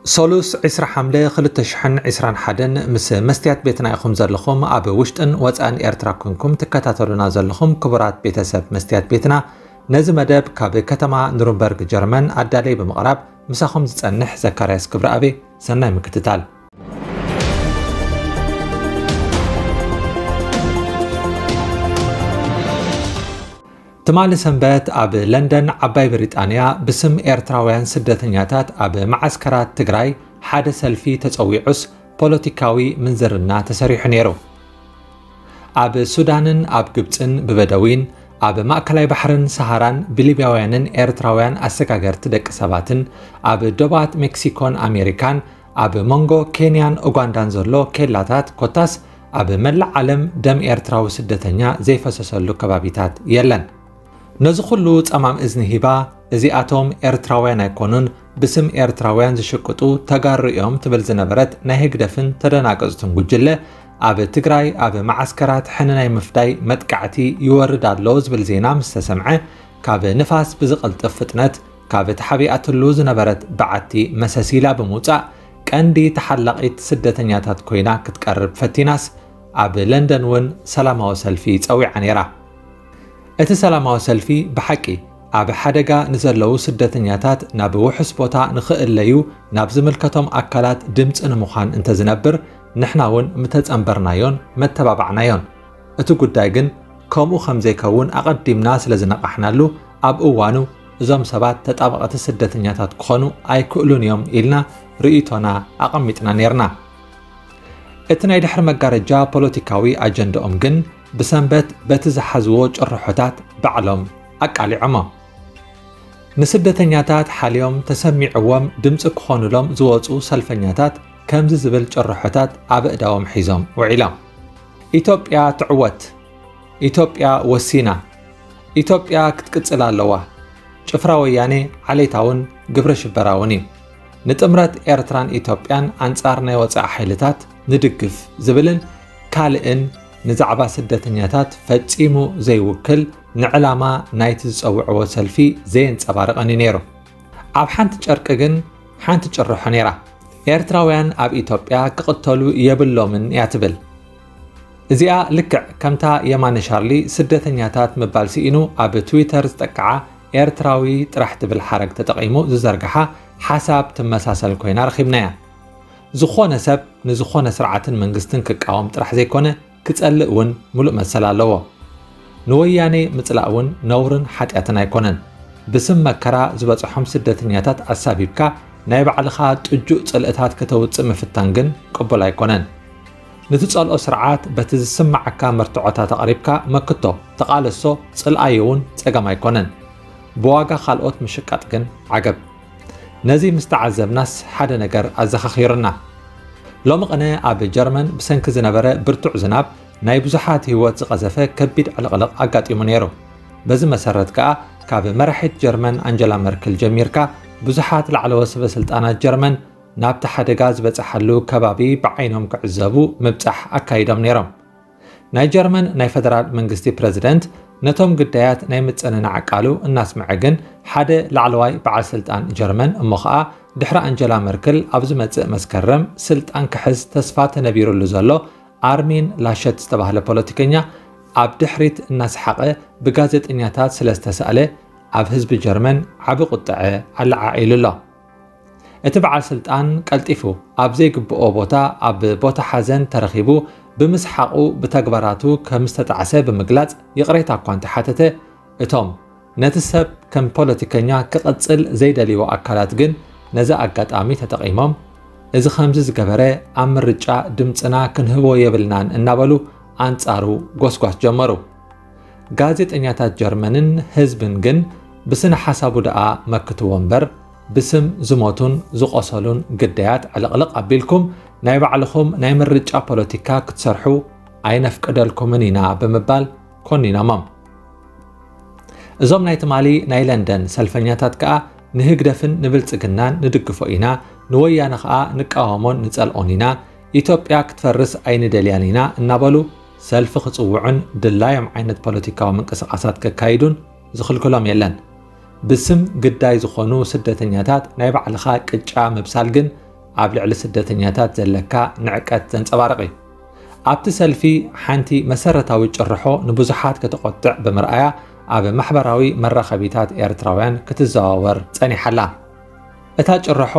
ሶሉስ ዕስራ ሓምለ ክልተ ሽሕን ዕስራን ሓደን ምስ መስትያት ቤትና ኢኹም ዘለኹም። ኣብ ውሽጥን ወጻእን ኤርትራ ኮንኩም ትከታተሉና ዘለኹም ክቡራት ቤተሰብ መስትያት ቤትና፣ ነዚ መደብ ካብ ከተማ ኑርንበርግ ጀርመን ኣዳለይ ብምቕራብ ምሳኹም ዝጸንሕ ዘካርያስ ክብረኣቤ። ሰናይ ምክትታል። ትማሊ ሰንበት ኣብ ለንደን ዓባይ ብሪጣንያ ብስም ኤርትራውያን ስደተኛታት ኣብ መዓስከራት ትግራይ ሓደ ሰልፊ ተጸዊዑስ ፖለቲካዊ ምንዝርና ተሰሪሑ ነይሩ። ኣብ ሱዳንን ኣብ ግብጽን ብበደዊን፣ ኣብ ማእከላይ ባሕርን ሰሃራን ብሊብያውያንን ኤርትራውያን ኣሰጋገርቲ ደቂ ሰባትን፣ ኣብ ዶባት ሜክሲኮን ኣሜሪካን፣ ኣብ መንጎ ኬንያን ኡጋንዳን ዘሎ ኬላታት ኮታስ ኣብ መላእ ዓለም ደም ኤርትራዊ ስደተኛ ዘይፈሰሰሉ ከባቢታት የለን። ነዚ ኩሉ ጸማም እዝኒ ሂባ፣ እዚኣቶም ኤርትራውያን ኣይኮኑን፣ ብስም ኤርትራውያን ዝሽቅጡ ተጋሩ እዮም ትብል ዝነበረት ናይ ህግደፍን ተደናገጽቱን ጉጅለ፣ ኣብ ትግራይ ኣብ መዓስከራት ሕነ ናይ ምፍዳይ መጥቃዕቲ ይወርድ ኣሎ ዝብል ዜና ምስ ተሰምዐ፣ ካብ ንፋስ ብዝቐልጥፍ ፍጥነት ካብ ተሓቢኣትሉ ዝነበረት በዓቲ መሰስ ኢላ ብምውጻእ፣ ቀንዲ ተሓላቒት ስደተኛታት ኮይና ክትቀርብ ፈቲናስ፣ ኣብ ለንደን እውን ሰላማዊ ሰልፊ ጸዊዓ ነይራ። እቲ ሰላማዊ ሰልፊ ብሓቂ ኣብ ሓደጋ ንዘለዉ ስደተኛታት ናብ ውሑስ ቦታ ንኽእለዩ ናብ ዝምልከቶም ኣካላት ድምጺ ንምዃን እንተዝነብር፣ ንሕና እውን ምተጸንበርናዮን መተባባዕናዮን። እቲ ጉዳይ ግን ከምኡ ከም ዘይከውን ኣቐዲምና ስለ ዝነቓሕናሉ፣ ኣብ እዋኑ እዞም ሰባት ተጣበቕቲ ስደተኛታት ክኾኑ ኣይክእሉን እዮም ኢልና ርእይቶና ኣቐሚጥና ነይርና። እቲ ናይ ድሕሪ መጋረጃ ፖለቲካዊ ኣጀንዳኦም ግን ብሰንበት በቲ ዝሓዝዎ ጭርሖታት ባዕሎም ኣቃሊዖሞ። ንስደተኛታት ሓልዮም ተሰሚዕዎም ድምፂ ክኾኑሎም ዝወፁ ሰልፈኛታት ከምዚ ዝብል ጭርሖታት ኣብ እዳዎም ሒዞም ውዒሎም። ኢትዮጵያ ትዕወት! ኢትዮጵያ ወሲና! ኢትዮጵያ ክትቅጽል ኣለዋ! ጭፍራ ወያኔ ዓሌታውን ግብረ ሽበራውን እዩ። ንጥምረት ኤርትራን ኢትዮጵያን ኣንጻር ናይ ወጻኢ ሓይልታት ንድግፍ ዝብልን ካልእን ንዛዕባ ስደተኛታት ፈጺሙ ዘይውክል ንዕላማ ናይቲ ዝጸውዕዎ ሰልፊ ዘየንጸባርቕን እዩ ነይሩ። ኣብ ሓንቲ ጨርቂ ግን ሓንቲ ጭርሖ ነይራ። ኤርትራውያን ኣብ ኢትዮጵያ ክቕተሉ የብሎምን እያ ትብል። እዚኣ ልክዕ ከምታ የማነ ሻርሊ ስደተኛታት ምባል ስኢኑ ኣብ ትዊተር ዝጠቅዓ ኤርትራዊ ጥራሕ ትብል ሓረግ ተጠቒሙ ዝዘርግሓ ሓሳብ ትመሳሰል ኮይና ረኺብናያ። ዝኾነ ሰብ ንዝኾነ ስርዓትን መንግስትን ክቃወም ጥራሕ ዘይኮነ ክጸልእ እውን ሙሉእ መሰል ኣለዎ። ንወያኔ ምጽላእ እውን ነውርን ሓጢኣትን ኣይኮነን። ብስም መከራ ዝበጽሖም ስደተኛታት ኣሳቢብካ ናይ ባዕልኻ ጥጁእ ጽልእታት ከተውጽእ ምፍታን ግን ቅቡል ኣይኮነን። ንትጸልኦ ስርዓት በቲ ዝስምዓካ መርትዖታት ኣቕሪብካ መክቶ፣ ተቓለሶ፣ ጽልኣዮ እውን ጸገም ኣይኮነን። ብዋጋ ካልኦት ምሽቃጥ ግን ዓገብ። ነዚ ምስ ተዓዘብናስ ሓደ ነገር ኣዘኻኺሩና። ሎሚ ቅነ ኣብ ጀርመን ብሰንኪ ዝነበረ ብርቱዕ ዝናብ ናይ ብዙሓት ህይወት ዝቐዘፈ ከቢድ ዕልቕልቕ ኣጋጢሙ ነይሩ። በዚ መሰረት ከኣ ካብ መራሒት ጀርመን ኣንጀላ መርክል ጀሚርካ ብዙሓት ላዕለዎት ሰበ ስልጣናት ጀርመን ናብቲ ሓደጋ ዝበጽሓሉ ከባቢ ብዓይኖም ክዕዘቡ ምብጻሕ ኣካይዶም ነይሮም። ናይ ጀርመን ናይ ፈደራል መንግስቲ ፕረዚደንት ነቶም ግዳያት ናይ ምጽንናዕ ቃሉ እናስምዐ ግን ሓደ ላዕለዋይ በዓል ስልጣን ጀርመን እሞ ኸኣ ድሕሪ ኣንጀላ መርክል ኣብ ዝመጽእ መስከረም ስልጣን ክሕዝ ተስፋ ተነቢሩሉ ዘሎ ኣርሚን ላሸት ዝተባህለ ፖለቲከኛ ኣብ ድሕሪት እናሰሓቐ ብጋዜጠኛታት ስለ ዝተሳእለ ኣብ ህዝቢ ጀርመን ዓቢ ቁጥዐ ኣለዓዒሉ ኣሎ። እቲ በዓል ስልጣን ቀልጢፉ ኣብ ዘይግብኦ ቦታ ኣብ ቦታ ሓዘን ተረኺቡ ብምስሓቑ ብተግባራቱ ከም ዝተጣዕሰ ብምግላጽ ይቕሬታ እኳ እንተሓተተ፣ እቶም ነቲ ሰብ ከም ፖለቲከኛ ክቕጽል ዘይደልይዎ ኣካላት ግን ነዚ ኣጋጣሚ ተጠቒሞም፣ እዚ ከምዚ ዝገበረ ኣብ ምርጫ ድምጽና ክንህቦ የብልናን እናበሉ ኣንጻሩ ጎስጓስ ጀመሩ። ጋዜጠኛታት ጀርመንን ህዝብን ግን ብስነ ሓሳቡ ደኣ መክትዎ እምበር ብስም ዝሞቱን ዝቖሰሉን ግዳያት ዕልቕልቕ ኣቢልኩም ናይ ባዕልኹም ናይ ምርጫ ፖለቲካ ክትሰርሑ ኣይነፍቅደልኩምን ኢና ብምባል ኮኒኖሞም። እዞም ናይ ትማሊ ናይ ለንደን ሰልፈኛታት ከኣ ንህግደፍን ንብልጽግናን ንድግፎ ኢና፣ ንወያነ ከኣ ንቃወሞን ንጸልኦን ኢና፣ ኢትዮጵያ ክትፈርስ ኣይንደልያን ኢና እናበሉ ሰልፊ ክጽውዑን ድላዮም ዓይነት ፖለቲካዊ ምንቅስቓሳት ከካይዱን ዝኽልክሎም የለን። ብስም ግዳይ ዝኾኑ ስደተኛታት ናይ ባዕልኻ ቅጫ ምብሳል ግን ኣብ ልዕሊ ስደተኛታት ዘለካ ንዕቀት ዘንጸባርቕ እዩ። ኣብቲ ሰልፊ ሓንቲ መሰረታዊ ጭርሖ ንብዙሓት ከተቖጥዕ ብምርኣያ ኣብ ማሕበራዊ መራኸቢታት ኤርትራውያን ክትዘዋወር ጸኒሓ ኣላ። እታ ጭርሖ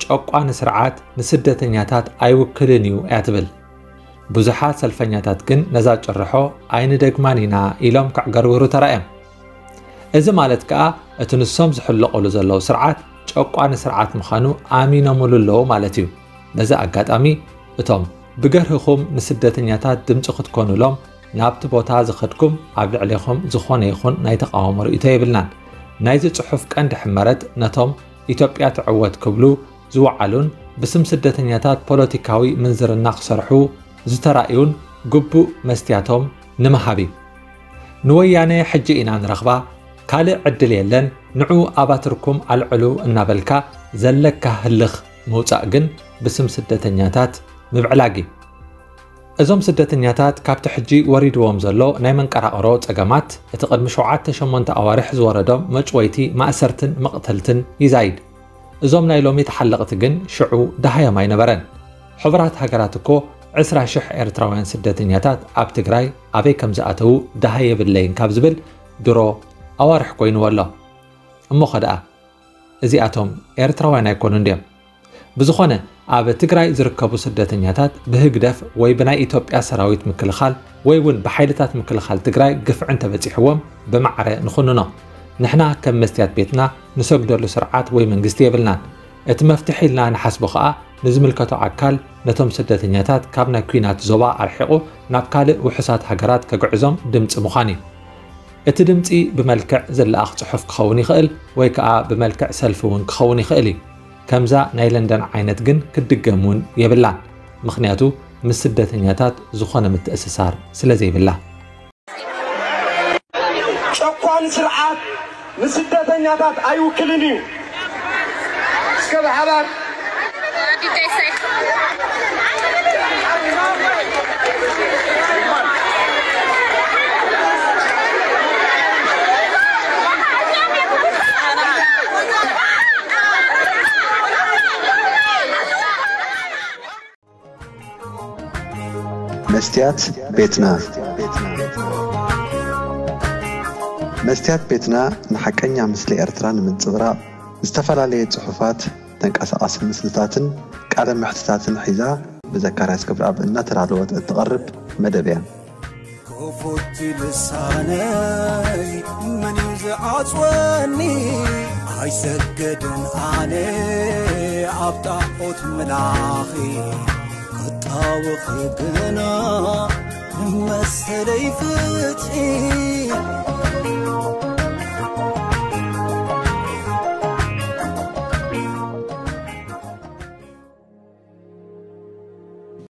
ጨቋኒ ስርዓት ንስደተኛታት ኣይውክልን እዩ እያ ትብል። ብዙሓት ሰልፈኛታት ግን ነዛ ጭርሖ ኣይንደግማን ኢና ኢሎም ከዕገርግሩ ተራእዮም። እዚ ማለት ከኣ እቲ ንሶም ዝሕለቑሉ ዘለዉ ስርዓት ጨቋኒ ስርዓት ምዃኑ ኣሚኖምሉ ኣለዉ ማለት እዩ። በዚ ኣጋጣሚ እቶም ብገርህኹም ንስደተኛታት ድምፂ ክትኮኑሎም ናብቲ ቦታ ዝኸድኩም ኣብ ልዕሌኹም ዝኾነ ይኹን ናይ ተቓውሞ ርእይቶ የብልናን። ናይዚ ጽሑፍ ቀንዲ ሕመረት ነቶም ኢትዮጵያ ትዕወት ክብሉ ዝወዓሉን ብስም ስደተኛታት ፖለቲካዊ ምንዝርና ክሰርሑ ዝተራእዩን ግቡእ መስትያቶም ንምሃብ እዩ። ንወያነ ሕጂ ኢና ንረኽባ፣ ካልእ ዕድል የለን፣ ንዑ ኣባትርኩም ኣልዕሉ እናበልካ ዘለካ ህልኽ ምውጻእ ግን ብስም ስደተኛታት ምብዕላግ እዩ። እዞም ስደተኛታት ካብቲ ሕጂ ወሪድዎም ዘሎ ናይ መንቀራቕሮ ጸገማት፣ እቲ ቅድሚ ሸውዓተ ሸሞንተ ኣዋርሕ ዝወረዶም መጭወይቲ፣ ማእሰርትን መቕተልትን ይዛይድ። እዞም ናይ ሎሚ ተሓለቕቲ ግን ሽዑ ደሃዮም ኣይነበረን። ሕቡራት ሃገራት እኮ ዕስራ ሽሕ ኤርትራውያን ስደተኛታት ኣብ ትግራይ ኣበይ ከም ዝኣተዉ ደሃይ የብለይን ካብ ዝብል ድሮ ኣዋርሕ ኮይንዎ ኣሎ። እሞ ኸ ደኣ እዚኣቶም ኤርትራውያን ኣይኮኑን ድዮም? ብዝኾነ፣ ኣብ ትግራይ ዝርከቡ ስደተኛታት ብህግደፍ ወይ ብናይ ኢትዮጵያ ሰራዊት ምክልኻል ወይ እውን ብሓይልታት ምክልኻል ትግራይ ግፍዒ እንተበፂሕዎም ብማዕረ ንኹንኖ። ንሕና ከም መስትያት ቤትና ንሰግደሉ ስርዓት ወይ መንግስቲ የብልናን። እቲ መፍትሒ ኢልና ንሓስቦ ኸኣ ንዝምልከቶ ኣካል ነቶም ስደተኛታት ካብ ናይ ኲናት ዞባ ኣርሒቑ ናብ ካልእ ውሑሳት ሃገራት ከግዕዞም ድምፂ ምዃን እዩ። እቲ ድምፂ ብመልክዕ ዝለኣኽ ጽሑፍ ክኸውን ይኽእል ወይ ከኣ ብመልክዕ ሰልፊ እውን ክኸውን ይኽእል እዩ። ከምዛ ናይ ለንደን ዓይነት ግን ክትድገም እውን የብላን። ምኽንያቱ ምስ ስደተኛታት ዝኾነ ምትእስሳር ስለ ዘይብላ። ጨቋኒ ስርዓት ንስደተኛታት ኣይውክልን እዩ። እስከ ብሓባር መስትያት ቤትና። መስትያት ቤትና ንሓቀኛ ምስሊ ኤርትራ ንምንጽብራቕ ዝተፈላለየ ጽሑፋት፣ ተንቀሳቓሲ ምስልታትን ቃለ መሕትታትን ሒዛ ብዘካርያስ ክብረኣብ እናተዳለወት እትቐርብ መደብ እያ። ክፉት ልሳነይ መን እዩ ዝዓጽወኒ? ኣይሰግድን ኣነ ኣብ ጣዖት ምላኺ፣ ክጣወኺ ግና ንመሰለይ ፍትሒ።